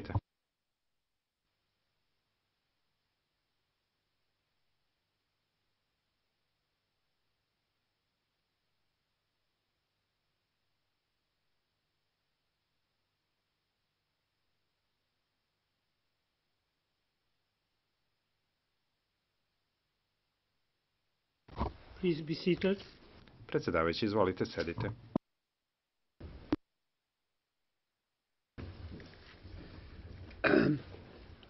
izvolite. Please be seated. Predsjedavajući, izvolite, sedite.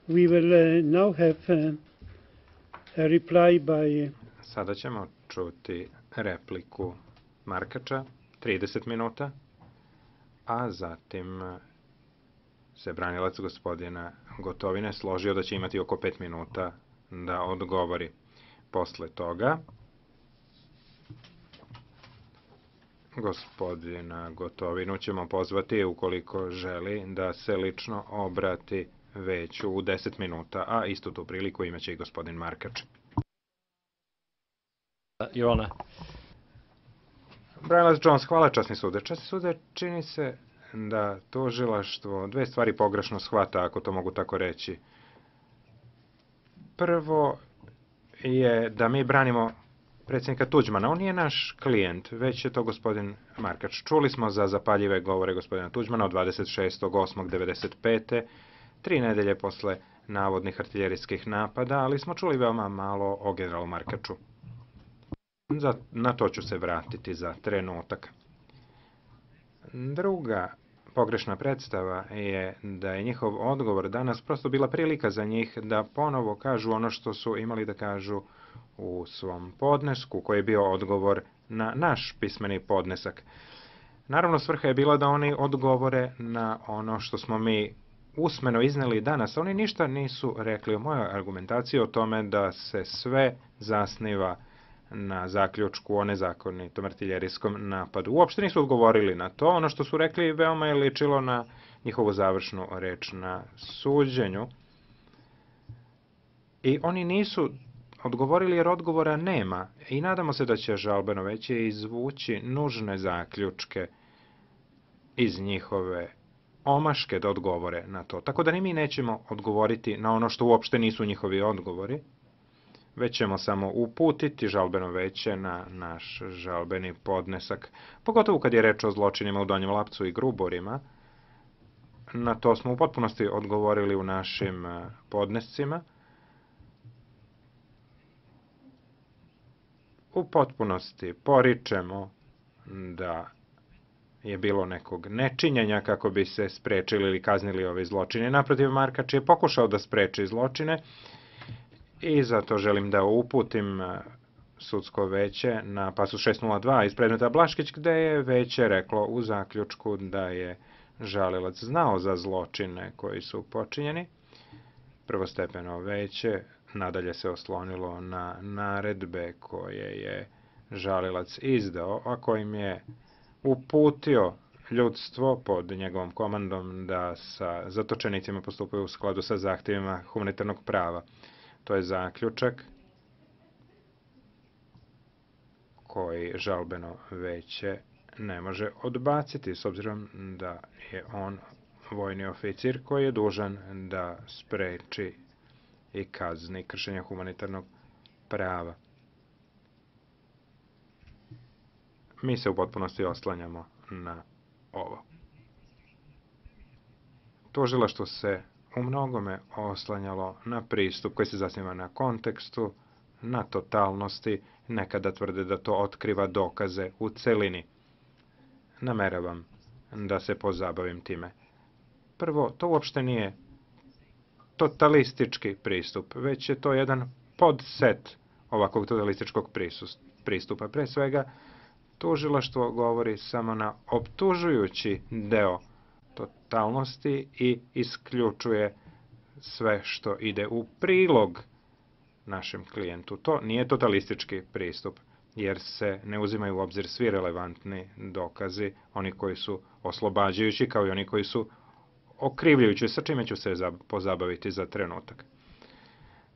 We will now have a reply by Sada ćemo čuti repliku Markača, 30 minuta, a zatim se branilac gospodina Gotovine složio da će imati oko 5 minuta da odgovori. Posle toga gospodina Gotovinu ćemo pozvati ukoliko želi da se lično obrati veću u 10 minuta, a istu tu priliku imaće i gospodin Markač. Your Honor. Branilac Jones, hvala časni sude. Časni sude, čini se da tužilaštvo dve stvari pogrešno shvata, ako to mogu tako reći. Prvo je da mi branimo predsjednika Tuđmana. On nije naš klijent, već je to gospodin Markač. Čuli smo za zapaljive govore gospodina Tuđmana od 26.8.1995. 3 nedelje posle navodnih artiljerijskih napada, ali smo čuli veoma malo o generalu Markaču. Na to ću se vratiti za trenutak. Druga pogrešna predstava je da je njihov odgovor danas prosto bila prilika za njih da ponovo kažu ono što su imali da kažu u svom podnesku, koji je bio odgovor na naš pismeni podnesak. Naravno, svrha je bila da oni odgovore na ono što smo mi usmeno izneli danas. Oni ništa nisu rekli o mojoj argumentaciji o tome da se sve zasniva na zaključku o nezakonitom artiljerijskom napadu. Uopšte nisu odgovorili na to. Ono što su rekli veoma je ličilo na njihovu završnu reč na suđenju. I oni nisu odgovorili jer odgovora nema. I nadamo se da će žalbeno veće izvući nužne zaključke iz njihove omaške da odgovore na to. Tako da ni mi nećemo odgovoriti na ono što uopšte nisu njihovi odgovori, već ćemo samo uputiti žalbeno veće na naš žalbeni podnesak, pogotovo kad je reč o zločinima u Donjem Lapcu i Gruborima. Na to smo u potpunosti odgovorili u našim podnescima. U potpunosti poričemo da je bilo nekog nečinjenja kako bi se sprečili ili kaznili ovi zločini. Naprotiv, Markač je pokušao da spreči zločine i zato želim da uputim sudsko veće na pasus 602 iz predmeta Blaškić, gde je veće reklo u zaključku da je žalilac znao za zločine koji su počinjeni. Prvostepeno veće nadalje se oslonilo na naredbe koje je žalilac izdao, a kojim je uputio ljudstvo pod njegovom komandom da sa zatočenicima postupaju u skladu sa zahtjevima humanitarnog prava. To je zaključak koji žalbeno veće ne može odbaciti, s obzirom da je on vojni oficir koji je dužan da spreči i kazni kršenja humanitarnog prava. Mi se u potpunosti oslanjamo na ovo. Tužilaštvo se u mnogome oslanjalo na pristup koji se zasniva na kontekstu, na totalnosti, nekada tvrde da to otkriva dokaze u celini. Nameravam da se pozabavim time. Prvo, to uopšte nije totalistički pristup, već je to jedan podset ovakvog totalističkog pristupa. Pre svega, tužilaštvo govori samo na optužujući deo totalnosti i isključuje sve što ide u prilog našem klijentu. To nije totalistički pristup, jer se ne uzimaju u obzir svi relevantni dokazi, oni koji su oslobađajući kao i oni koji su okrivljujući, sa čime ću se pozabaviti za trenutak.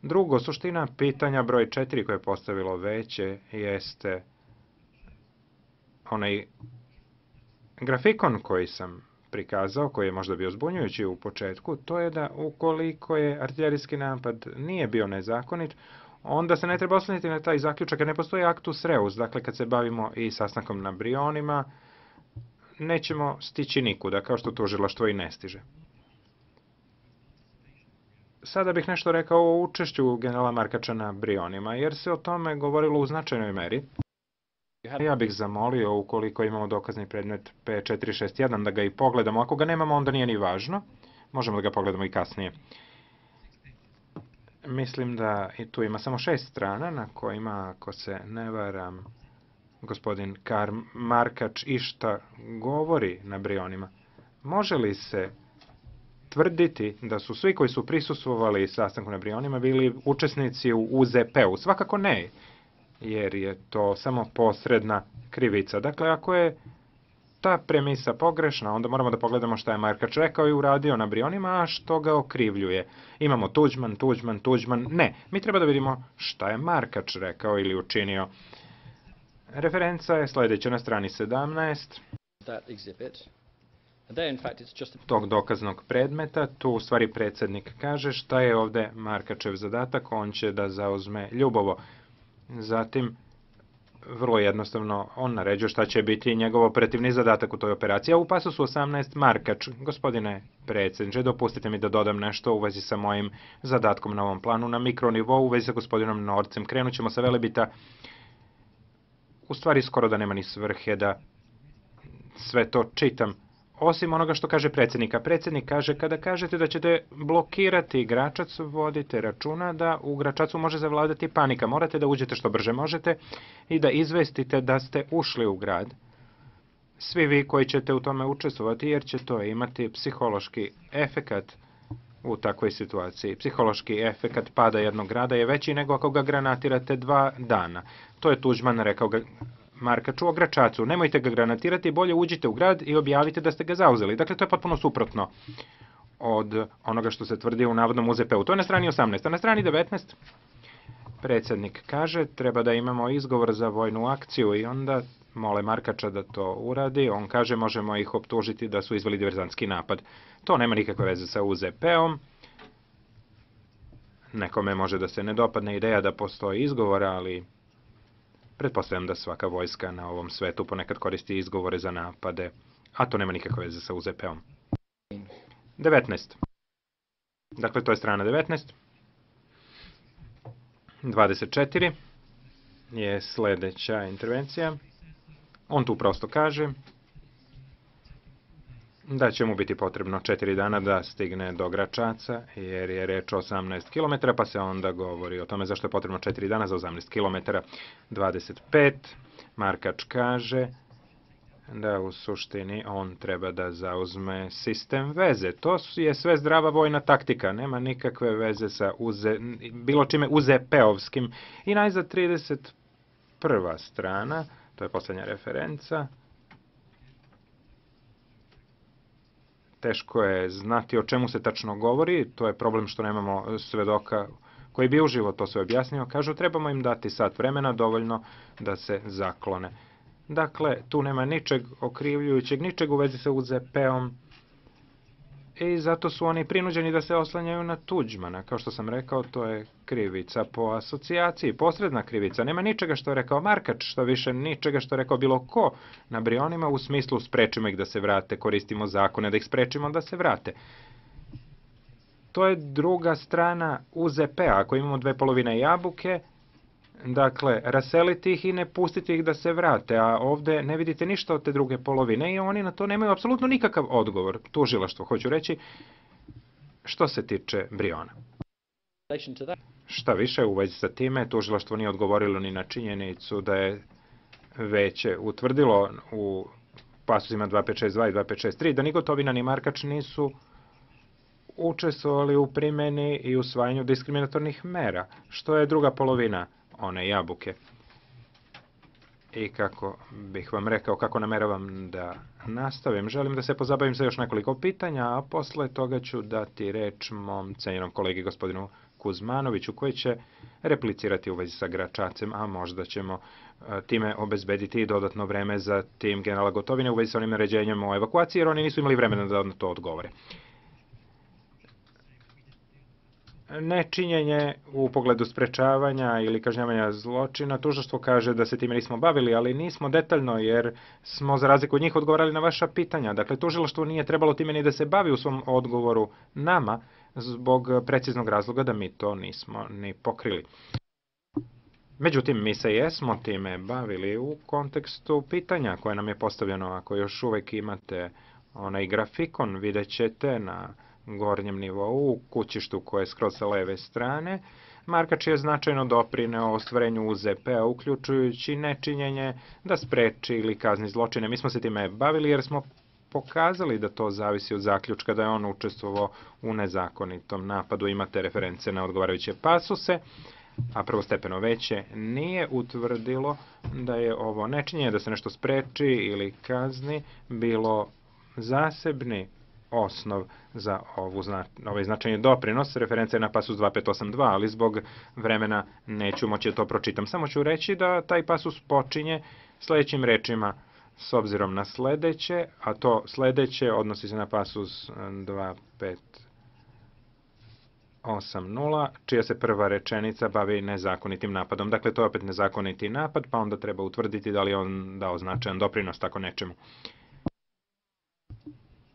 Drugo, suština pitanja broj 4 koje je postavilo veće jeste onaj grafikon koji sam prikazao, koji je možda bio zbunjujući u početku, to je da ukoliko je artiljerijski napad nije bio nezakonit, onda se ne treba osloniti na taj zaključak, jer ne postoji actus reus. Dakle, kad se bavimo i sastankom na Brionima, nećemo stići nikuda, kao što tužilaštvo i ne stiže. Sada bih nešto rekao o učešću generala Markača na Brionima, jer se o tome govorilo u značajnoj meri. Ja bih zamolio, ukoliko imamo dokazni predmet P461, da ga i pogledamo. Ako ga nemamo, onda nije ni važno. Možemo da ga pogledamo i kasnije. Mislim da i tu ima samo 6 strana na kojima, ako se ne varam, gospodin Markač išta govori na Brionima. Može li se tvrditi da su svi koji su prisustvovali sastanku na Brionima bili učesnici u UZP-u? Svakako ne, jer je to samo posredna krivica. Dakle, ako je ta premisa pogrešna, onda moramo da pogledamo šta je Markač rekao i uradio na Brionima, a što ga okrivljuje. Imamo Tuđman. Ne, mi treba da vidimo šta je Markač rekao ili učinio. Referenca je sljedeća na strani 17. Tog dokaznog predmeta, tu u stvari predsjednik kaže šta je ovde Markačev zadatak, on će da zauzme Ljubovo. Zatim, vrlo jednostavno, on naređuje šta će biti njegov operativni zadatak u toj operaciji. A u pasusu 18 Markač, gospodine predsjedniče, dopustite mi da dodam nešto u vezi sa mojim zadatkom na ovom planu, na mikronivou, u vezi sa gospodinom Norcem. Krenut ćemo sa Velebita. U stvari, skoro da nema ni svrhe da sve to čitam. Osim onoga što kaže predsjednika. Predsjednik kaže, kada kažete da ćete blokirati Gračac, vodite računa da u Gračacu može zavladati panika. Morate da uđete što brže možete i da izvestite da ste ušli u grad. Svi vi koji ćete u tome učestvovati, jer će to imati psihološki efekat u takvoj situaciji. Psihološki efekat pada jednog grada je veći nego ako ga granatirate 2 dana. To je Tuđman rekao Markaču o Gračacu. Nemojte ga granatirati, bolje uđite u grad i objavite da ste ga zauzeli. Dakle, to je potpuno suprotno od onoga što se tvrdi u navodnom UZP-u. To je na strani 18. A na strani 19 predsjednik kaže treba da imamo izgovor za vojnu akciju i onda mole Markača da to uradi. On kaže možemo ih optužiti da su izveli diverzantski napad. To nema nikakve veze sa UZP-om. Nekome može da se ne dopadne ideja da postoji izgovor, ali pretpostavljam da svaka vojska na ovom svetu ponekad koristi izgovore za napade, a to nema nikakve veze sa UZP-om. 19. Dakle, to je strana 19. 24 je sljedeća intervencija. On tu prosto kaže da će mu biti potrebno 4 dana da stigne do Gračaca, jer je reč o 18 km, pa se onda govori o tome zašto je potrebno 4 dana za 18 km. 25. Markač kaže da u suštini on treba da zauzme sistem veze. To je sve zdrava vojna taktika, nema nikakve veze sa bilo čime UZP-ovskim. I najzad 31. strana, to je posljednja referenca. Teško je znati o čemu se tačno govori, to je problem što nemamo svedoka koji bi uživo to sve objasnio. Kažu, trebamo im dati sat vremena, dovoljno da se zaklone. Dakle, tu nema ničeg okrivljujućeg, ničeg u vezi sa UZP-om i zato su oni prinuđeni da se oslanjaju na Tuđmana. Kao što sam rekao, to je krivica po asocijaciji, posredna krivica. Nema ničega što je rekao Markač, što više ničega što je rekao bilo ko na Brionima, u smislu sprečimo ih da se vrate, koristimo zakone da ih sprečimo da se vrate. To je druga strana UZP-a. Ako imamo 2 polovine jabuke, dakle, raseliti ih i ne pustiti ih da se vrate, a ovde ne vidite ništa od te druge polovine i oni na to nemaju apsolutno nikakav odgovor. Tužilaštvo, hoću reći, što se tiče Briona. Šta više, u vezi sa time, tužilaštvo nije odgovorilo ni na činjenicu da je veće utvrdilo u pasusima 2562 i 2563 da ni Gotovina ni Markač nisu učestvovali u primjeni i usvajanju diskriminatornih mera, što je druga polovina one jabuke. I kako bih vam rekao, kako nameravam da nastavim, želim da se pozabavim sa još nekoliko pitanja, a posle toga ću dati reč mom cenjenom kolegi gospodinu Kuzmanoviću koji će replicirati u vezi sa Gračacem, a možda ćemo time obezbediti i dodatno vreme za tim generala Gotovine u vezi sa onim naređenjem o evakuaciji, jer oni nisu imali vremena da na to odgovore. Nečinjenje u pogledu sprečavanja ili kažnjavanja zločina, tužilaštvo kaže da se time nismo bavili, ali nismo detaljno jer smo za razliku od njih odgovarali na vaša pitanja. Dakle, tužilaštvo nije trebalo time ni da se bavi u svom odgovoru nama zbog preciznog razloga da mi to nismo ni pokrili. Međutim, mi se jesmo time bavili u kontekstu pitanja koje nam je postavljeno. Ako još uvek imate onaj grafikon, vidjet ćete na gornjem nivou u kućištu koje je skroz sa leve strane. Markač je značajno doprineo ostvarenju UZP-a, uključujući nečinjenje da spreči ili kazni zločine. Mi smo se time bavili jer smo pokazali da to zavisi od zaključka da je on učestvovao u nezakonitom napadu. Imate reference na odgovarajuće pasuse, a prvostepeno veće nije utvrdilo da je ovo nečinjenje, da se nešto spreči ili kazni, bilo zasebni osnov za ovaj značajni doprinos. Referenca je na pasus 2582, ali zbog vremena neću moći da to pročitam. Samo ću reći da taj pasus počinje sledećim rečima s obzirom na sledeće, a to sledeće odnosi se na pasus 2580, čija se prva rečenica bavi nezakonitim napadom. Dakle, to je opet nezakoniti napad, pa onda treba utvrditi da li je on dao značajan doprinos tako nečemu.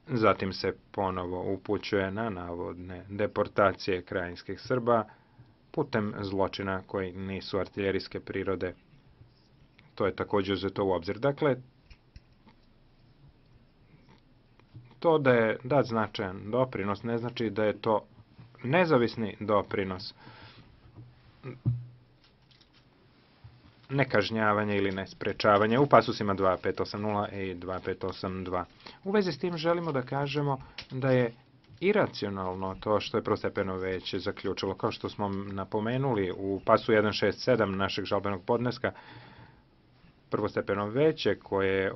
Zatim se ponovo upućuje na navodne deportacije krajinskih Srba putem zločina koji nisu artiljerijske prirode. To je također uzeto u obzir. Dakle, to da je dat značajan doprinos ne znači da je to nezavisni doprinos, nekažnjavanje ili nesprečavanje u pasusima 2580 i 2582. U vezi s tim želimo da kažemo da je iracionalno to što je prvostepeno veće zaključilo. Kao što smo napomenuli u pasu 167 našeg žalbenog podneska, prvostepeno veće koje je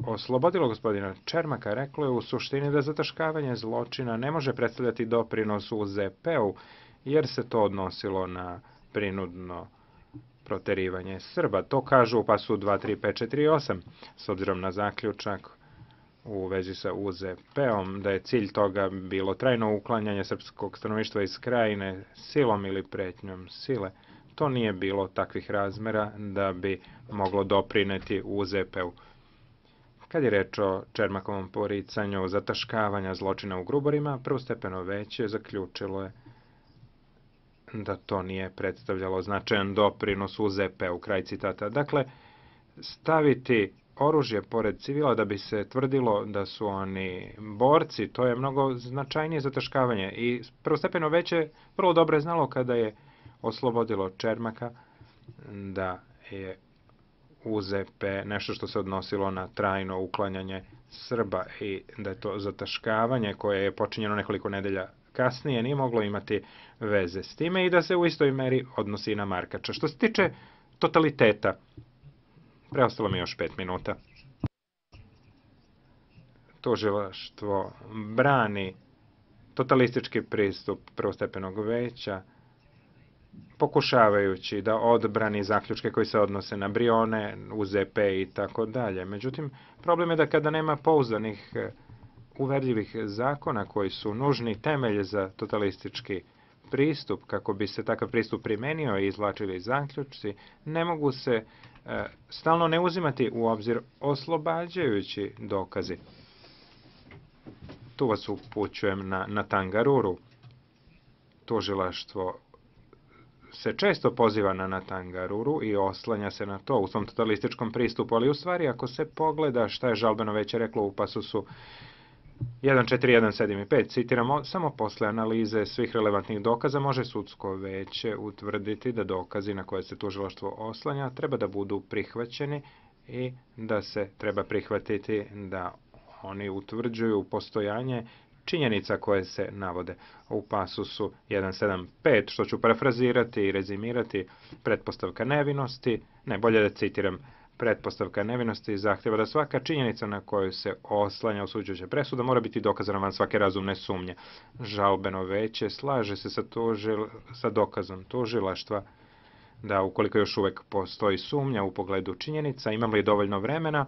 oslobodilo gospodina Čermaka reklo je u suštini da zataškavanje zločina ne može predstavljati doprinos u ZP-u jer se to odnosilo na prinudno proterivanje Srba. To kažu u pasu 23548, s obzirom na zaključak u vezi sa UZP-om, da je cilj toga bilo trajno uklanjanje srpskog stanovništva iz krajine silom ili pretnjom sile. To nije bilo takvih razmera da bi moglo doprineti UZP-u. Kad je reč o Čermakovom poricanju zataškavanja zločina u Gruborima, prvostepeno veće zaključilo je da to nije predstavljalo značajan doprinos UZP-u, kraj citata. Dakle, staviti oružje pored civila da bi se tvrdilo da su oni borci, to je mnogo značajnije zataškavanje. I prvostepeno veće vrlo dobro je znalo kada je oslobodilo Čermaka da je UZP nešto što se odnosilo na trajno uklanjanje Srba i da je to zataškavanje koje je počinjeno nekoliko nedelja kasnije nije moglo imati veze s time i da se u istoj meri odnosi i na Markača. Što se tiče totaliteta, preostalo mi još 5 minuta. Tužilaštvo brani totalistički pristup prvostepenog veća, pokušavajući da odbrani zaključke koji se odnose na Brione, UZP i tako dalje. Međutim, problem je da kada nema pouzdanih uverljivih zakona koji su nužni temelj za totalistički pristup, kako bi se takav pristup primenio i izvlačili zaključci, ne mogu se stalno ne uzimati u obzir oslobađajući dokazi. Tu vas upućujem na Tangaruru. Tužilaštvo se često poziva na Tangaruru i oslanja se na to u svom totalističkom pristupu, ali u stvari ako se pogleda šta je žalbeno veće reklo u pasusu 1.4.1.7 i 5, citiramo, samo posle analize svih relevantnih dokaza može sudsko veće utvrditi da dokazi na koje se tužilaštvo oslanja treba da budu prihvaćeni i da se treba prihvatiti da oni utvrđuju postojanje činjenica koje se navode u pasusu 1.7.5, što ću parafrazirati i rezimirati, pretpostavka nevinosti, ne bolje da citiram pretpostavka nevinosti zahtjeva da svaka činjenica na koju se oslanja osuđujuća presuda mora biti dokazana van svake razumne sumnje. Žalbeno veće slaže se sa dokazom tužilaštva da ukoliko još uvijek postoji sumnja u pogledu činjenica, imamo li dovoljno vremena,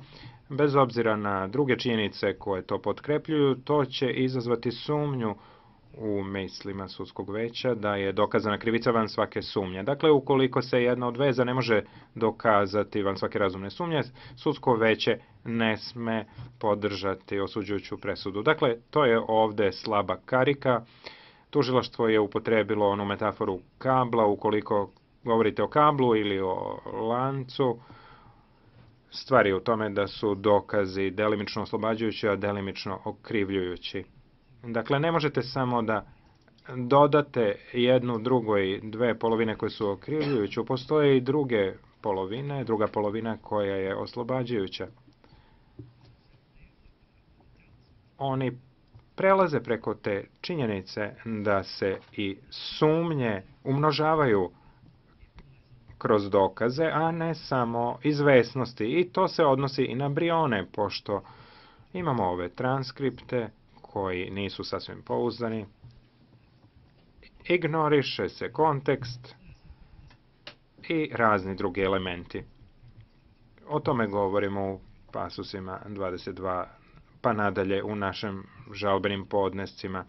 bez obzira na druge činjenice koje to potkrepljuju, to će izazvati sumnju u mislima sudskog veća da je dokazana krivica van svake sumnje. Dakle, ukoliko se jedna od veza ne može dokazati van svake razumne sumnje, sudsko veće ne sme podržati osuđujuću presudu. Dakle, to je ovde slaba karika. Tužilaštvo je upotrebilo onu metaforu kabla, ukoliko govorite o kablu ili o lancu, stvar je u tome da su dokazi delimično oslobađajući, a delimično okrivljujući. Dakle, ne možete samo da dodate jednu drugoj dve polovine koje su okrivljujuće. Postoje i druga polovina koja je oslobađajuća. Oni prelaze preko te činjenice da se i sumnje umnožavaju kroz dokaze, a ne samo izvesnosti. I to se odnosi i na Brione, pošto imamo ove transkripte koji nisu sasvim pouzdani. Ignoriše se kontekst i razni drugi elementi. O tome govorimo u pasusima 22 pa nadalje u našim žalbenim podnescima.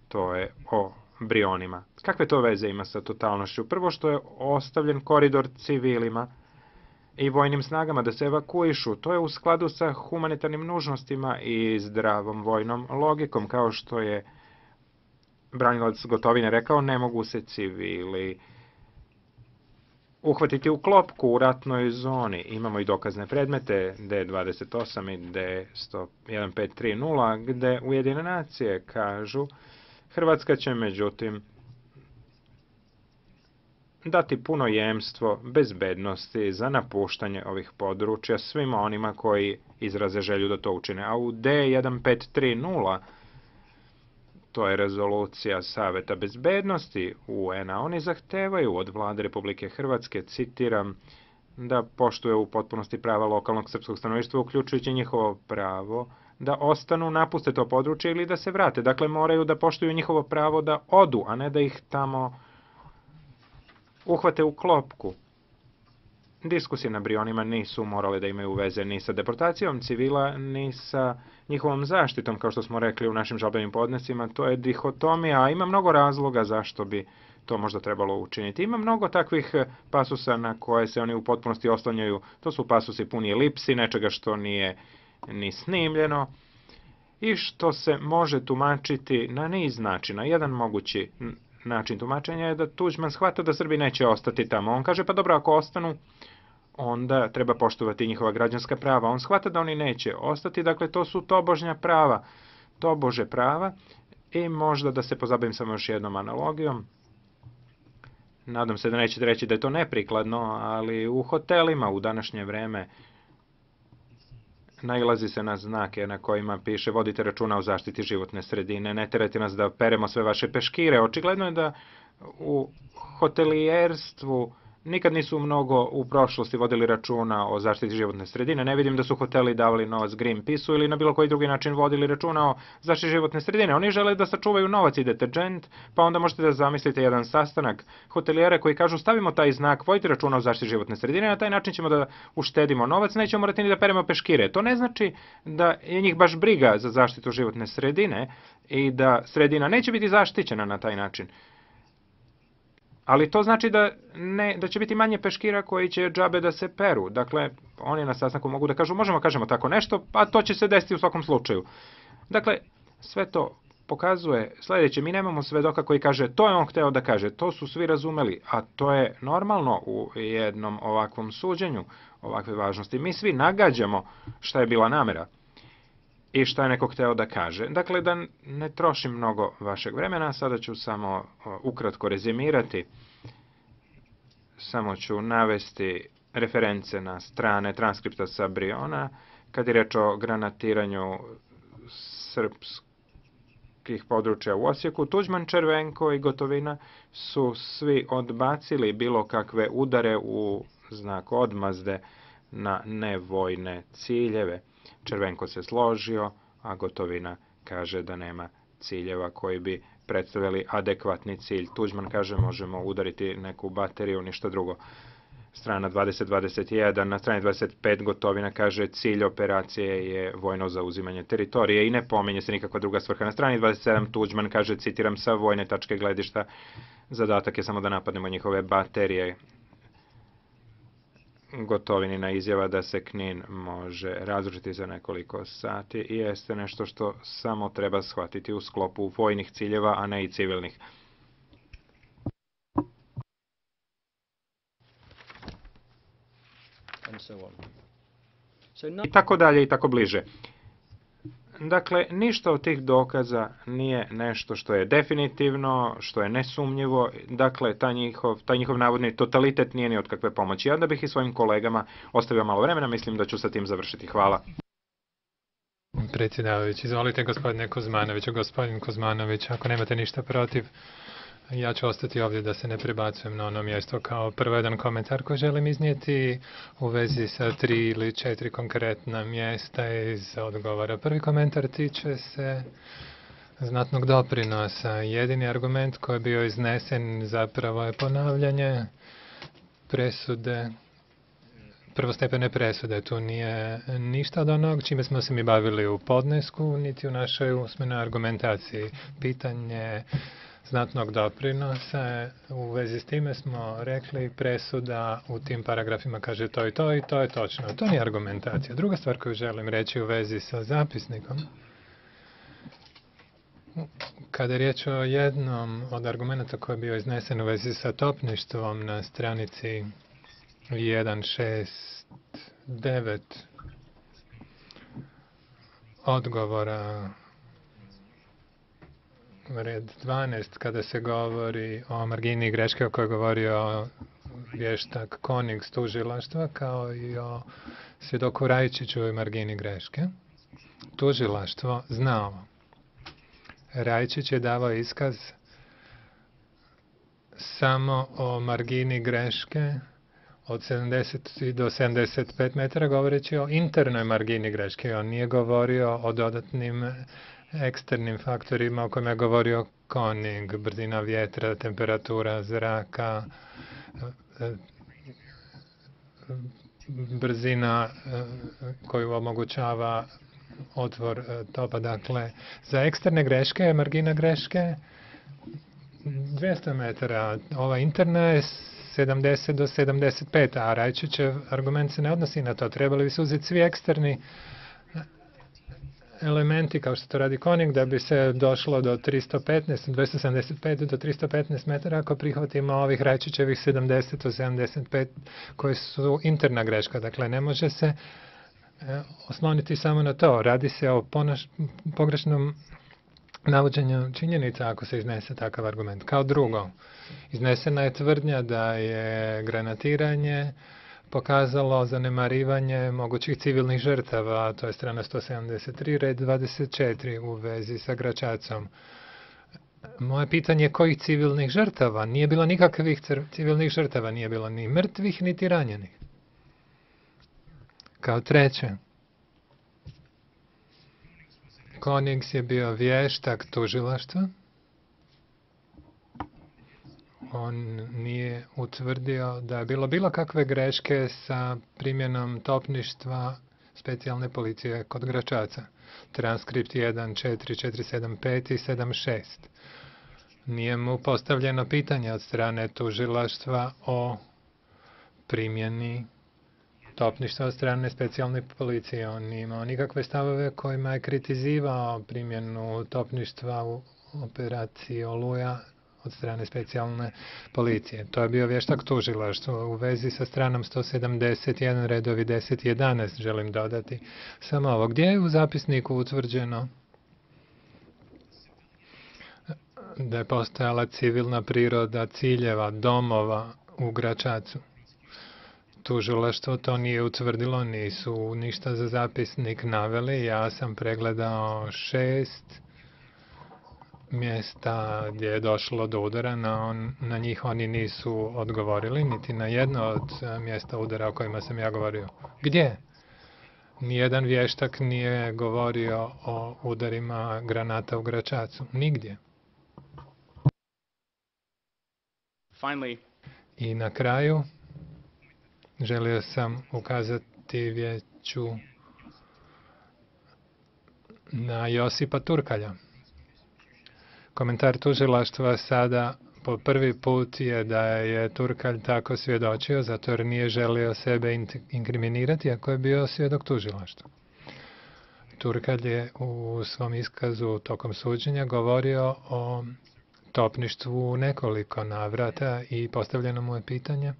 To je o Brionima. Kakve to veze ima sa totalnošću? Prvo što je ostavljen koridor civilima i vojnim snagama da se evakuišu. To je u skladu sa humanitarnim nužnostima i zdravom vojnom logikom. Kao što je branilac Gotovine rekao, ne mogu se civili uhvatiti u klopku u ratnoj zoni. Imamo i dokazne predmete D28 i D1530 gde Ujedinjene nacije kažu Hrvatska će međutim dati puno jemstvo bezbednosti za napuštanje ovih područja svima onima koji izraze želju da to učine. A u D1530, to je rezolucija Saveta bezbednosti UN-a, oni zahtevaju od vlade Republike Hrvatske, citiram, da poštuje u potpunosti prava lokalnog srpskog stanovništva, uključujući njihovo pravo da ostanu, napuste to područje ili da se vrate. Dakle, moraju da poštuju njihovo pravo da odu, a ne da ih tamo uhvate u klopku. Diskusije na Brionima nisu morale da imaju veze ni sa deportacijom civila, ni sa njihovom zaštitom, kao što smo rekli u našim žalbenim podnesima. To je dihotomija, a ima mnogo razloga zašto bi to možda trebalo učiniti. Ima mnogo takvih pasusa na koje se oni u potpunosti oslanjaju. To su pasusi puni elipsi, nečega što nije ni snimljeno i što se može tumačiti na niz načina. Jedan mogući način tumačenja je da Tuđman shvata da Srbi neće ostati tamo. On kaže, pa dobro, ako ostanu, onda treba poštovati njihova građanska prava. On shvata da oni neće ostati, dakle to su tobožnja prava, tobože prava. I možda da se pozabavim samo još jednom analogijom. Nadam se da nećete reći da je to neprikladno, ali u hotelima u današnje vreme nailazi se na znake na kojima piše vodite računa o zaštiti životne sredine, ne terajte nas da peremo sve vaše peškire. Očigledno je da u hotelijerstvu nikad nisu mnogo u prošlosti vodili računa o zaštiti životne sredine. Ne vidim da su hoteli davali novac Greenpeaceu ili na bilo koji drugi način vodili računa o zaštiti životne sredine. Oni žele da sačuvaju novac i deterđent, pa onda možete da zamislite jedan sastanak hotelijera koji kažu stavimo taj znak, vodite računa o zaštiti životne sredine, na taj način ćemo da uštedimo novac, nećemo morati ni da peremo peškire. To ne znači da je njih baš briga za zaštitu životne sredine i da sredina neće biti zaštićena na taj način. Ali to znači da će biti manje peškira koji će džabe da se peru. Dakle, oni na sastanku mogu da kažu, možemo kažemo tako nešto, a to će se desiti u svakom slučaju. Dakle, sve to pokazuje sljedeće. Mi nemamo svedoka koji kaže, to je on hteo da kaže, to su svi razumeli, a to je normalno u jednom ovakvom suđenju, ovakve važnosti. Mi svi nagađamo šta je bila namera i šta je neko hteo da kaže. Dakle, da ne trošim mnogo vašeg vremena, sada ću samo ukratko rezimirati. Samo ću navesti reference na strane transkripta sa Briona, kad je reč o granatiranju srpskih područja u Osijeku. Tuđman, Červenko i Gotovina su svi odbacili bilo kakve udare u znak odmazde na nevojne ciljeve. Červenko se složio, a Gotovina kaže da nema ciljeva koji bi predstavljali adekvatni cilj. Tuđman kaže možemo udariti neku bateriju, ništa drugo. Strana 20-21, na strani 25 Gotovina kaže cilj operacije je vojno zauzimanje teritorije i ne pominje se nikakva druga svrha. Na strani 27 Tuđman kaže, citiram, sa vojne tačke gledišta, zadatak je samo da napadnemo njihove baterije. Gotovinina izjava da se Knin može razrušiti za nekoliko sati i jeste nešto što samo treba shvatiti u sklopu vojnih ciljeva, a ne i civilnih. I tako dalje i tako bliže. Dakle, ništa od tih dokaza nije nešto što je definitivno, što je nesumnjivo. Dakle, taj njihov navodni totalitet nije ni od kakve pomoći. Ja da bih i svojim kolegama ostavio malo vremena, mislim da ću sa tim završiti. Hvala. Predsjedavajući, izvolite gospodine Kuzmanoviću. Gospodin Kuzmanović, ako nemate ništa protiv, ja ću ostati ovdje da se ne prebacujem na ono mjesto. Kao prvo jedan komentar koji želim iznijeti u vezi sa 3 ili 4 konkretna mjesta iz odgovora. Prvi komentar tiče se znatnog doprinosa. Jedini argument koji je bio iznesen zapravo je ponavljanje presude, prvostepene presude. Tu nije ništa od onog čime smo se mi bavili u podnesku, niti u našoj usmenoj argumentaciji. Pitanje znatnog doprinosa. U vezi s time smo rekli presuda u tim paragrafima kaže to i to je točno. To nije argumentacija. Druga stvar koju želim reći u vezi sa zapisnikom, kada je riječ o jednom od argumenta koji je bio iznesen u vezi sa topništvom na stranici 169 odgovora, red 12, kada se govori o margini greške o kojoj je govorio vještak Konig s tužilaštva, kao i o svjedoku Rajčiću i margini greške. Tužilaštvo zna ovo. Rajčić je davao iskaz samo o margini greške od 70 do 75 metara, govoreći o internoj margini greške. On nije govorio o dodatnim eksternim faktorima o kojima je govorio Konig, brzina vjetra, temperatura zraka, brzina koju omogućava otvor topa. Dakle, za eksterne greške je margina greške 200 metara. Ova interna je 70 do 75, a Rajčićev argument se ne odnosi na to. Trebali bi se uzeti svi eksterni elementi, kao što to radi Konig, da bi se došlo do 275 do 315 metara ako prihvatimo ovih Rajčićevih 70 do 75 koji su interna greška. Dakle, ne može se osloniti samo na to. Radi se o pogrešnom navođenju činjenica ako se iznese takav argument. Kao drugo, iznesena je tvrdnja da je granatiranje pokazalo zanemarivanje mogućih civilnih žrtava, to je strana 173, red 24 u vezi sa Gračacom. Moje pitanje je kojih civilnih žrtava? Nije bilo nikakvih civilnih žrtava, nije bilo ni mrtvih, niti ranjenih. Kao treće, Konings je bio vještak tužilaštva. On nije utvrdio da je bilo kakve greške sa primjenom topništva specijalne policije kod Gračaca. Transkript 1.4.4.7.5 i 7.6. Nije mu postavljeno pitanje od strane tužilaštva o primjeni topništva od strane specijalne policije. On nije imao nikakve stavove kojima je kritizivao primjenu topništva u operaciji Oluja od strane specijalne policije. To je bio vještak tužilaštva. U vezi sa stranom 171, redovi 10 i 11 želim dodati samo ovo. Gdje je u zapisniku utvrđeno da je postojala civilna priroda ciljeva, domova u Gračacu? Tužilaštvo to nije utvrdilo, nisu ništa za zapisnik naveli. Ja sam pregledao 6 mjesta gdje je došlo do udara, na njih oni nisu odgovorili, niti na jedno od mjesta udara o kojima sam ja govorio. Gdje? Nijedan vještak nije govorio o udarima granata u Gračacu. Nigdje. Finally, I na kraju želio sam ukazati vijeću na Josipa Turkalja. Komentar tužilaštva sada po prvi put je da je Turkalj tako svjedočio, zato jer nije želio sebe inkriminirati, ako je bio svjedok tužilaštva. Turkalj je u svom iskazu tokom suđenja govorio o topništvu u nekoliko navrata i postavljeno mu je pitanje: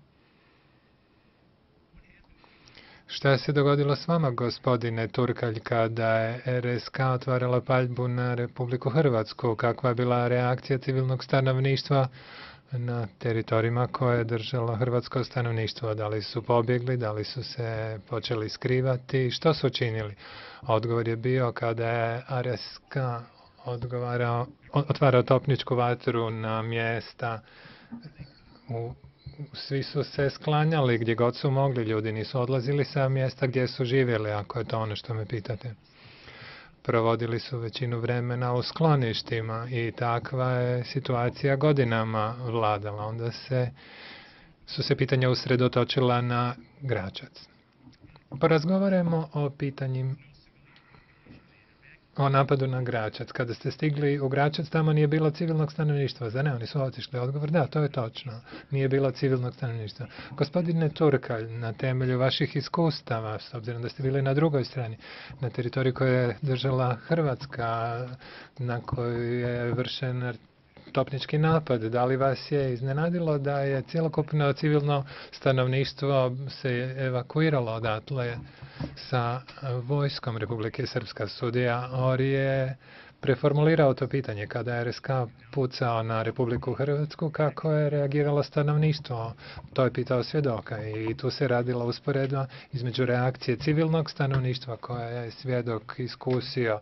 šta se dogodilo s vama, gospodine Turkalj, kada je RSK otvarala paljbu na Republiku Hrvatsku? Kakva je bila reakcija civilnog stanovništva na teritorijima koje je držalo hrvatsko stanovništvo? Da li su pobjegli, da li su se počeli skrivati? Što su učinili? Odgovor je bio, kada je RSK otvarao topničku vatru na mjesta, svi su se sklanjali gdje god su mogli, ljudi nisu odlazili sa mjesta gdje su živjeli, ako je to ono što me pitate. Provodili su većinu vremena u skloništima i takva je situacija godinama vladala. Onda su se pitanja usredotočila na Gračac. Porazgovarajmo o pitanjima o napadu na Gračac. Kada ste stigli u Gračac, tamo nije bilo civilnog stanovništva. Za ne, oni su otišli. Odgovor, da, to je točno. Nije bilo civilnog stanovništva. Gospodine Turkalj, na temelju vaših iskustava, s obzirom da ste bili na drugoj strani, na teritoriji koju je držala Hrvatska, na kojoj je vršen topnički napad, da li vas je iznenadilo da je cjelokupno civilno stanovništvo se evakuiralo odatle sa vojskom Republike Srpska? Sudija Ori je preformulirao to pitanje kada je RSK pucao na Republiku Hrvatsku, kako je reagiralo stanovništvo. To je pitao svjedoka i tu se radila usporedba između reakcije civilnog stanovništva koja je svjedok iskusio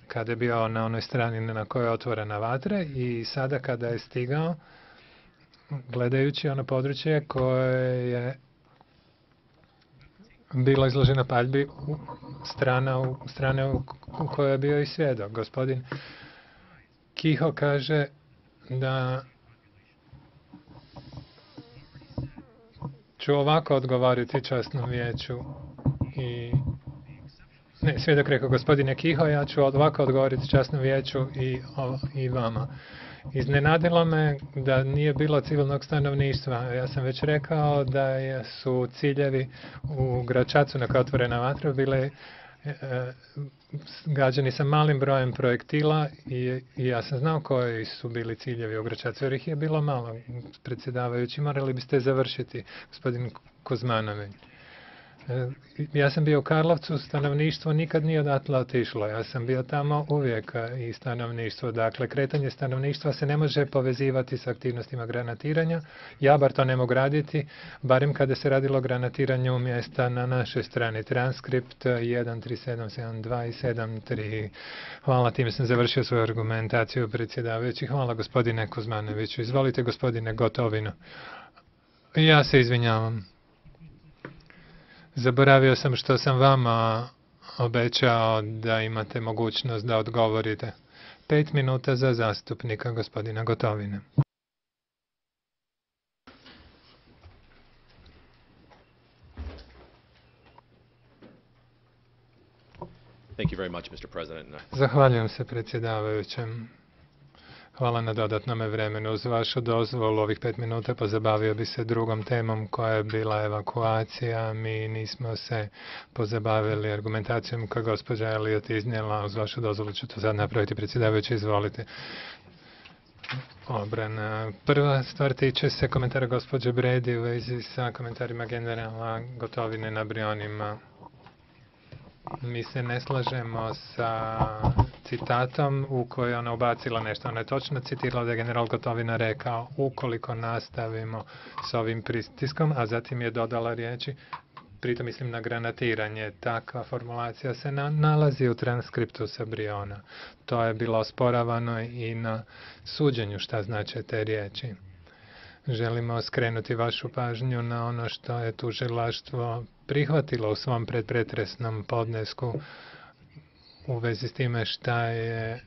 kada je bio na onoj strani na kojoj je otvorena vatra i sada kada je stigao, gledajući ono područje koje je bilo izloženo paljbi, strane u kojoj je bio i svjedok. Gospodin Kiho kaže da ću ovako odgovoriti časnom vijeću i ne, svjedok rekao, gospodine Kiho, ja ću ovako odgovoriti časnom vijeću i vama. Iznenadilo me da nije bilo civilnog stanovništva. Ja sam već rekao da su ciljevi u Gračacu na kojoj je otvorena vatra bile gađani sa malim brojem projektila i ja sam znao koji su bili ciljevi u Gračacu, jer ih je bilo malo. Predsjedavajući, morali biste završiti, gospodin Kuzmanović. Ja sam bio u Karlovcu, stanovništvo nikad nije odatle otišlo. Ja sam bio tamo uvijek i stanovništvo. Dakle, kretanje stanovništva se ne može povezivati s aktivnostima granatiranja. Ja bar to ne mogu raditi, barem kada se radilo o granatiranju mjesta na našoj strani. Transkript 13772 i 73. Hvala, time sam završio svoju argumentaciju, predsjedavajući. Hvala, gospodine Kuzmanoviću. Izvolite, gospodine Gotovino. Ja se izvinjavam. Zaboravio sam što sam vama obećao da imate mogućnost da odgovorite. 5 minuta za zastupnika, gospodina Gotovine. Thank you very much, Mr. President. Zahvaljujem se, predsjedavajućem. Hvala na dodatnome vremenu. Uz vašu dozvolu ovih 5 minuta pozabavio bi se drugom temom koja je bila evakuacija. Mi nismo se pozabavili argumentacijom koju gospođa Elliot iznijela. Uz vašu dozvolu ću to sad napraviti, predsjedavajući, izvolite. Obrana. Prva stvar tiče se komentara gospođe Bredi u vezi sa komentarima generala Gotovine na Brionima. Mi se ne slažemo sa citatom u kojoj ona ubacila nešto. Ona je točno citirala da je general Gotovina rekao ukoliko nastavimo s ovim pritiskom, a zatim je dodala riječi pritom mislim na granatiranje. Takva formulacija se nalazi u transkriptu sa Briona. To je bilo osporavano i na suđenju šta znače te riječi. Želimo skrenuti vašu pažnju na ono što je tužilaštvo prihvatilo u svom predpretresnom podnesku u vezi s time šta je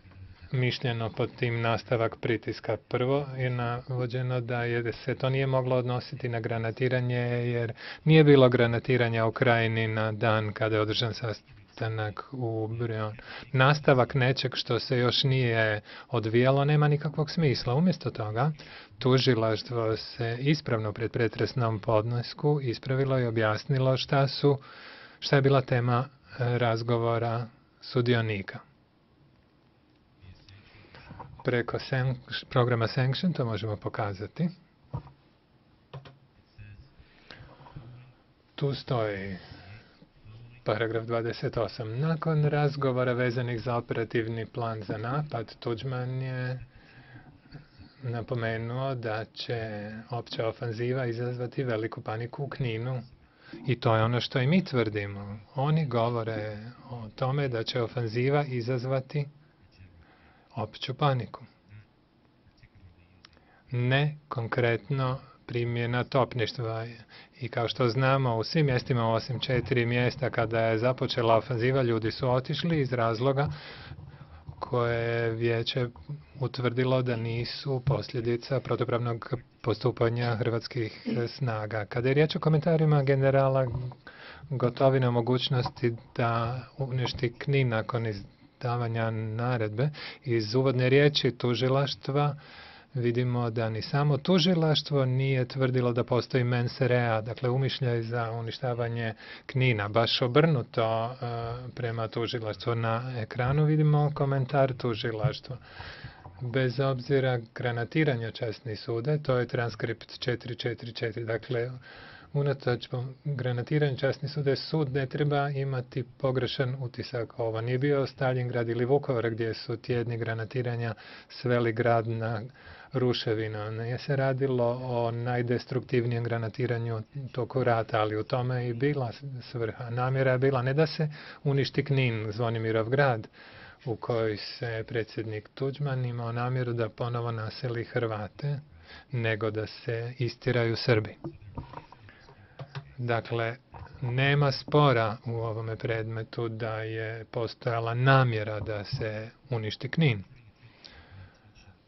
mišljeno pod tim nastavak pritiska. Prvo je navođeno da se to nije moglo odnositi na granatiranje jer nije bilo granatiranja u Krajini na dan kada je održan sastanak u Brion. Nastavak nečeg što se još nije odvijalo nema nikakvog smisla. Umjesto toga, tužilaštvo se ispravno pred pretresnom podnesku ispravilo i objasnilo šta je bila tema razgovora sudionika. Preko programa Sanction to možemo pokazati. Tu stoji paragraf 28. Nakon razgovora vezanih za operativni plan za napad, Tuđman je napomenuo da će opća ofanziva izazvati veliku paniku u Kninu. I to je ono što i mi tvrdimo. Oni govore o tome da će ofanziva izazvati opću paniku. Ne konkretno primjena topništva. I kao što znamo, u svim mjestima osim 4 mjesta kada je započela ofanziva, ljudi su otišli iz razloga koje je vijeće utvrdilo da nisu posljedica protupravnog postupanja hrvatskih snaga. Kada je riječ o komentarima generala Gotovine o mogućnosti da uništi Knin nakon izdavanja naredbe, iz uvodne riječi tužilaštva vidimo da ni samo tužilaštvo nije tvrdilo da postoji mens rea, dakle umišljaj za uništavanje Knina. Baš obrnuto prema tužilaštvu. Na ekranu vidimo komentar tužilaštva. Bez obzira granatiranja časni sude, to je transkript 444. Dakle, unatoč granatiranju časni sude, sud ne treba imati pogrešan utisak. Ovo nije bio Staljingrad ili Vukovar gdje su tjedni granatiranja sveli grad na ruševinu. Nije se radilo o najdestruktivnijem granatiranju toku rata, ali u tome je i bila svrha. Namjera je bila ne da se uništi Knin, Zvonimirov grad, u kojoj se predsjednik Tuđman imao namjeru da ponovo naseli Hrvate, nego da se istiraju Srbi. Dakle, nema spora u ovome predmetu da je postojala namjera da se uništi Knin.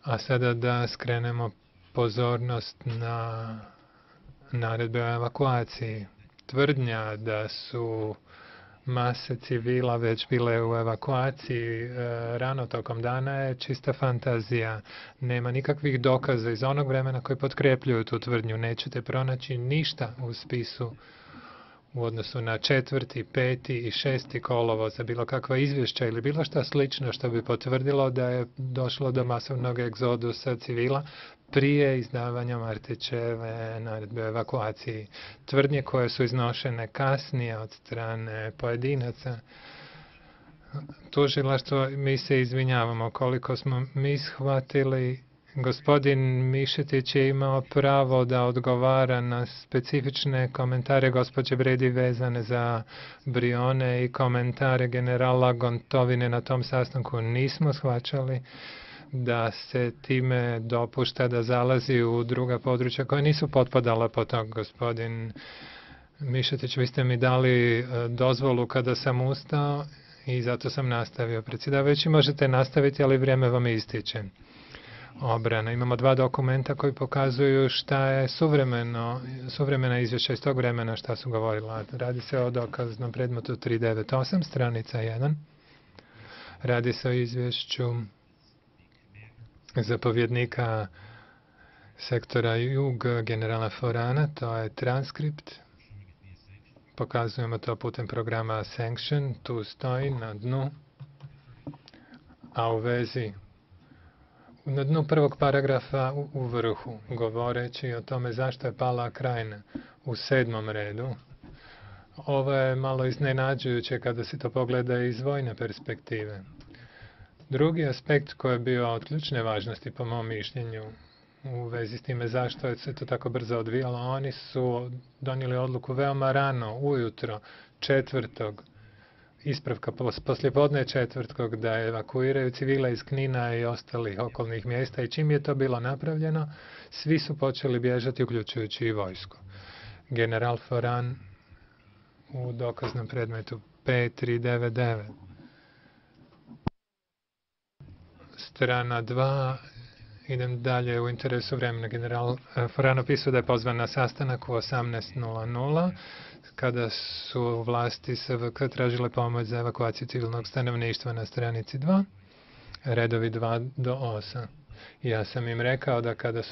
A sada da skrenemo pozornost na naredbe o evakuaciji. Tvrdnja da su mase civila već bile u evakuaciji rano tokom dana je čista fantazija. Nema nikakvih dokaza iz onog vremena koji potkrepljuju tu tvrdnju. Nećete pronaći ništa u spisu u odnosu na 4., 5. i 6. kolovoz za bilo kakva izvješća ili bilo šta slično što bi potvrdilo da je došlo do masovnog egzodusa civila prije izdavanja Martićeve naredbe o evakuaciji. Tvrdnje koje su iznošene kasnije od strane pojedinaca. Tužilaštvo, mi se izvinjavamo koliko smo mi shvatili. Gospodin Mišetić je imao pravo da odgovara na specifične komentare gospođe Bredi vezane za Brione i komentare generala Gotovine na tom sastanku. Nismo shvaćali da se time dopušta da zalazi u druga područja koja nisu potpadala po to. Gospodin Mišetić, vi ste mi dali dozvolu kada sam ustao i zato sam nastavio. Predsjedavajući, možete nastaviti, ali vrijeme vam ističe. Obrana. Imamo 2 dokumenta koji pokazuju šta je suvremena izvješća iz tog vremena šta su govorila. Radi se o dokaznom predmetu 398, stranica 1. Radi se o izvješću zapovjednika sektora Jug generala Forana, to je transkript. Pokazujemo to putem programa Sanction, tu stoji na dnu, a u vezi na dnu prvog paragrafa u vrhu, govoreći o tome zašto je pala Krajina u 7. redu. Ovo je malo iznenađujuće kada se to pogleda iz vojne perspektive. Drugi aspekt koji je bio od ključne važnosti po mom mišljenju u vezi s time zašto je se to tako brzo odvijalo. Oni su donijeli odluku veoma rano, ujutro, četvrtog, ispravka poslijepodne četvrtkog, da evakuiraju civile iz Knina i ostalih okolnih mjesta, i čim je to bilo napravljeno, svi su počeli bježati, uključujući i vojsku. General Foran u dokaznom predmetu 5399. Strana 2. Idem dalje u interesu vremena. General Foran opisuje da je pozvan na sastanak u 18:00 kada su vlasti SVK tražile pomoć za evakuaciju civilnog stanovništva na stranici 2, redovi 2 do 8. Ja sam im rekao da kada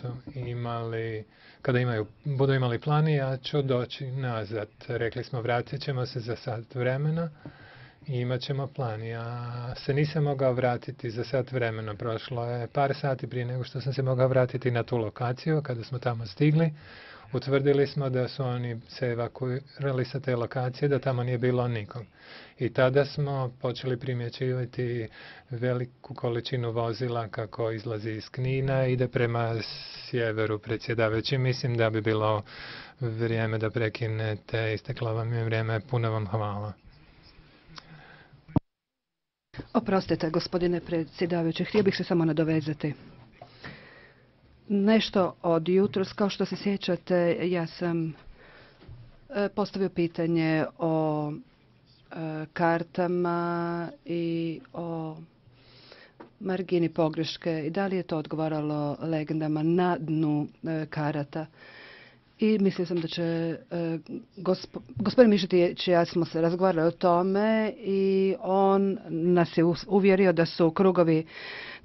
budu imali plan, ja ću doći nazad. Rekli smo, vratit ćemo se za sat vremena i imat ćemo plan. Ja se nisam mogao vratiti za sat vremena. Prošlo je par sati prije nego što sam se mogao vratiti na tu lokaciju. Kada smo tamo stigli, utvrdili smo da su oni se evakuirali sa te lokacije, da tamo nije bilo nikog. I tada smo počeli primjećivati veliku količinu vozila kako izlazi iz Knina i ide prema sjeveru. Predsjedavajući, mislim da bi bilo vrijeme da prekinete. Isteklo vam je vrijeme. Puno vam hvala. Oprostite, gospodine predsjedavajući, htio bih se samo nadovezati. Nešto od jutros, kao što se sjećate, ja sam postavio pitanje o kartama i o margini pogreške i da li je to odgovaralo legendama na dnu karata. I mislio sam da će gospodin Mišetić i ja smo se razgovarali o tome i on nas je uvjerio da su krugovi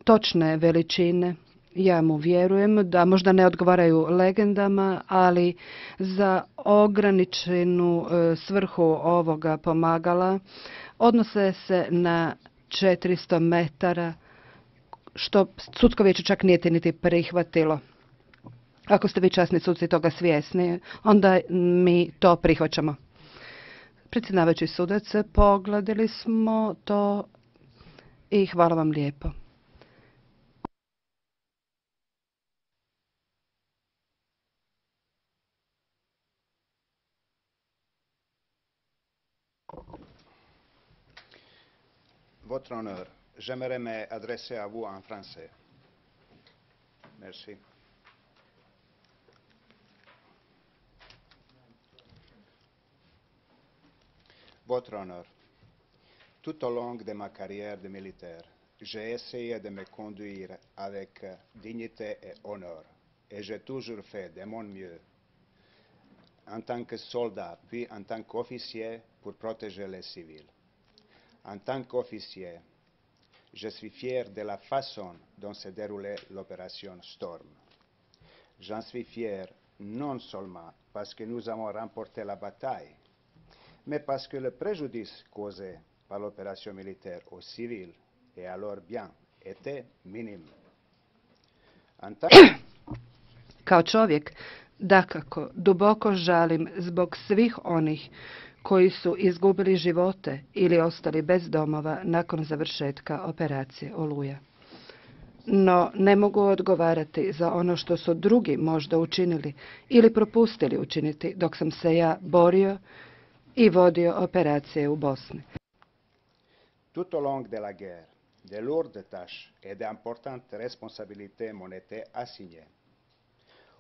točne veličine. Ja mu vjerujem da možda ne odgovaraju legendama, ali za ograničenu svrhu ovoga pomagala odnose se na 400 metara, što sudsko vijeće čak nije niti prihvatilo. Ako ste vi časni suci toga svjesni, onda mi to prihvaćamo. Predsjedavajući sudac, pogledali smo to i hvala vam lijepo. Votre honneur, j'aimerais me adresser à vous en français. Merci. Votre honneur, tout au long de ma carrière de militaire, j'ai essayé de me conduire avec dignité et honneur, et j'ai toujours fait de mon mieux en tant que soldat, puis en tant qu'officier pour protéger les civils. En tant qu'officier, je suis fier de la façon dont s'est déroulée l'opération Storm. J'en suis fier non seulement parce que nous avons remporté la bataille, mais parce que le préjudice causé par l'opération militaire aux civils et à leurs biens était minime. Kao čovjek, dakako, duboko žalim zbog svih onih koji su izgubili živote ili ostali bez domova nakon završetka operacije Oluja. No, ne mogu odgovarati za ono što su drugi možda učinili ili propustili učiniti dok sam se ja borio i vodio operacije u Bosni. Tout au long de la guerre, de lourdes tâches et d'importantes responsabilités m'ont été assignées.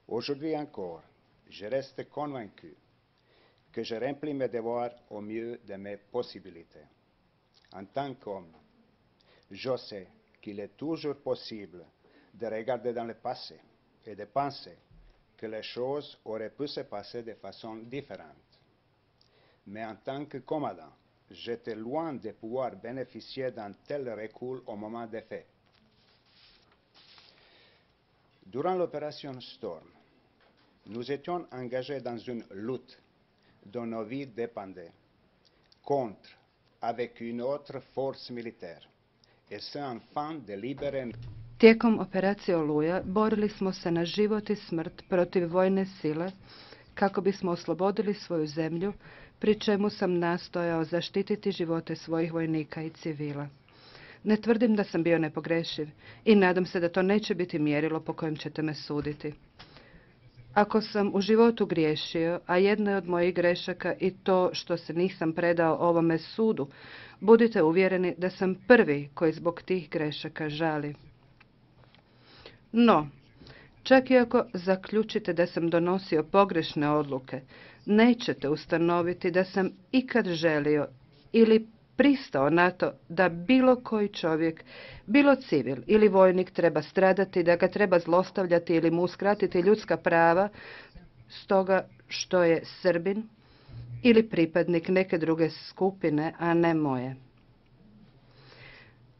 Aujourd'hui encore, je reste convaincu que je remplis mes devoirs au mieux de mes possibilités. En tant qu'homme, je sais qu'il est toujours possible de regarder dans le passé et de penser que les choses auraient pu se passer de façon différente. Mais en tant que commandant, j'étais loin de pouvoir bénéficier d'un tel recul au moment des faits. Durant l'opération Storm, nous étions engagés dans une lutte dont nos vies dépendaient, contre, avec une autre force militaire, et ce afin de libérer. Tijekom operacije Oluja borili smo se na život i smrt protiv vojne sile kako bismo oslobodili svoju zemlju, pri čemu sam nastojao zaštititi živote svojih vojnika i civila. Ne tvrdim da sam bio nepogrešiv i nadam se da to neće biti mjerilo po kojem ćete me suditi. Ako sam u životu griješio, a jedna je od mojih grešaka i to što se nisam predao ovome sudu, budite uvjereni da sam prvi koji zbog tih grešaka žali. No, čak i ako zaključite da sam donosio pogrešne odluke, nećete ustanoviti da sam ikad želio ili pristao na to da bilo koji čovjek, bilo civil ili vojnik treba stradati, da ga treba zlostavljati ili mu uskratiti ljudska prava stoga što je Srbin ili pripadnik neke druge skupine, a ne moje.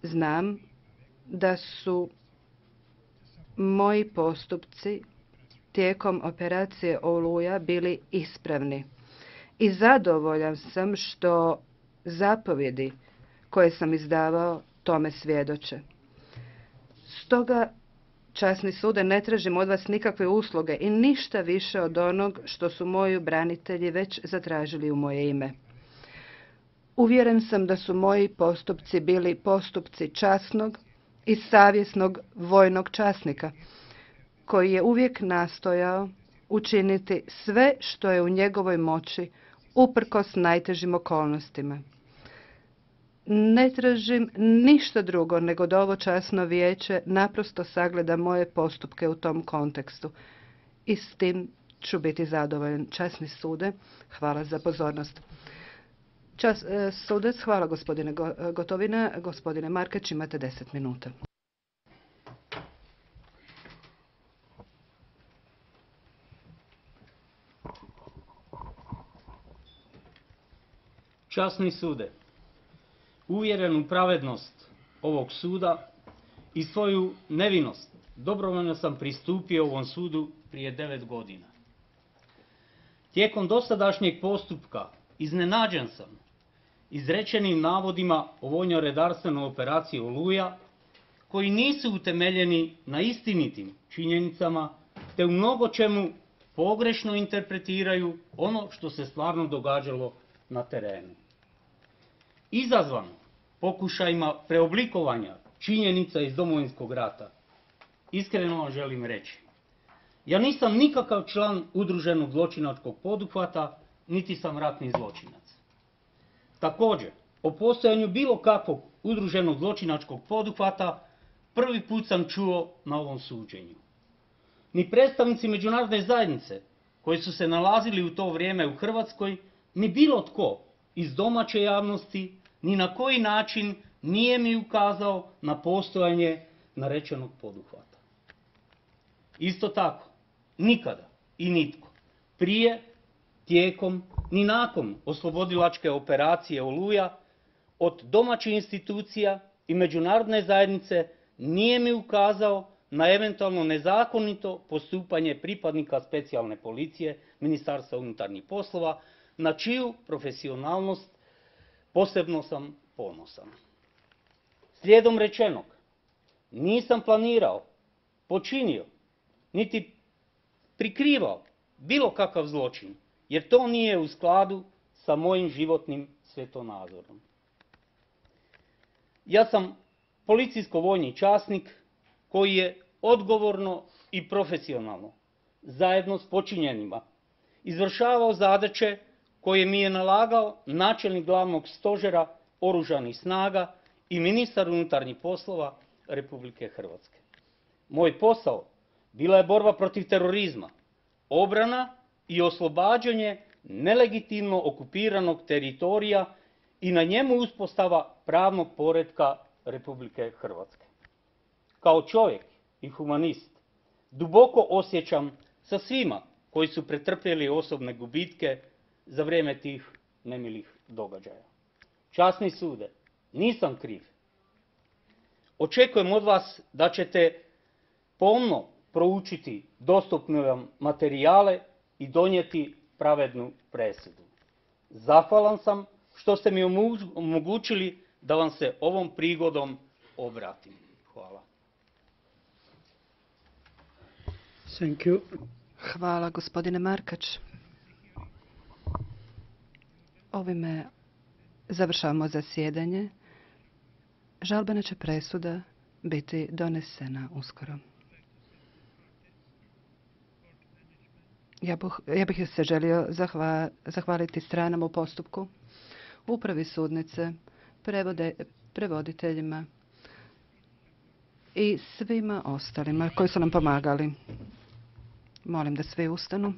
Znam da su moji postupci tijekom operacije Oluja bili ispravni i zadovoljan sam što zapovjedi koje sam izdavao tome svjedoče. Stoga, časni sude, ne tražim od vas nikakve usluge i ništa više od onog što su moji branitelji već zatražili u moje ime. Uvjeren sam da su moji postupci bili postupci časnog i savjesnog vojnog časnika, koji je uvijek nastojao učiniti sve što je u njegovoj moći uprkos najtežim okolnostima. Ne tražim ništa drugo nego da ovo časno vijeće naprosto sagleda moje postupke u tom kontekstu. I s tim ću biti zadovoljan. Časni sude, hvala za pozornost. Sudac, hvala gospodine Gotovina. Gospodine Markač, imate 10 minuta. Časni sude, uvjeren u pravednost ovog suda i svoju nevinost, dobrovoljno sam pristupio ovom sudu prije 9 godina. Tijekom dosadašnjeg postupka iznenađen sam izrečenim navodima o vojno-redarstvenoj operaciji Oluja, koji nisu utemeljeni na istinitim činjenicama, te u mnogo čemu pogrešno interpretiraju ono što se stvarno događalo na terenu. Izazvan pokušajima preoblikovanja činjenica iz Domovinskog rata, iskreno vam želim reći, ja nisam nikakav član udruženog zločinačkog poduhvata, niti sam ratni zločinac. Također, o postojanju bilo kakvog udruženog zločinačkog poduhvata prvi put sam čuo na ovom suđenju. Ni predstavnici međunarodne zajednice, koji su se nalazili u to vrijeme u Hrvatskoj, ni bilo tko iz domaće javnosti, ni na koji način nije mi ukazao na postojanje narečenog poduhvata. Isto tako, nikada i nitko, prije, tijekom, ni nakon oslobodilačke operacije Oluja, od domaćih institucija i međunarodne zajednice nije mi ukazao na eventualno nezakonito postupanje pripadnika specijalne policije Ministarstva unutarnjih poslova, na čiju profesionalnost posebno sam ponosan. Slijedom rečenog, nisam planirao, počinio, niti prikrivao bilo kakav zločin, jer to nije u skladu sa mojim životnim svjetonazorom. Ja sam policijsko-vojni časnik koji je odgovorno i profesionalno, zajedno s počinjenima, izvršavao zadaće koje mi je nalagao načelnik glavnog stožera Oružanih snaga i ministar unutarnjih poslova Republike Hrvatske. Moj posao bila je borba protiv terorizma, obrana i oslobađanje nelegitimno okupiranog teritorija i na njemu uspostava pravnog poretka Republike Hrvatske. Kao čovjek i humanist duboko osjećam sa svima koji su pretrpjeli osobne gubitke za vrijeme tih nemilih događaja. Časni sude, nisam kriv. Očekujem od vas da ćete pomno proučiti dostupne vam materijale i donijeti pravednu presudu. Zahvalan sam što ste mi omogućili da vam se ovom prigodom obratim. Hvala. Thank you. Hvala, gospodine Markač. Ovime završavamo zasjedanje. Žalbena će presuda biti donesena uskoro. Ja bih se želio zahvaliti stranama u postupku, upravi sudnice, prevoditeljima i svima ostalima koji su nam pomagali. Molim da svi ustanu.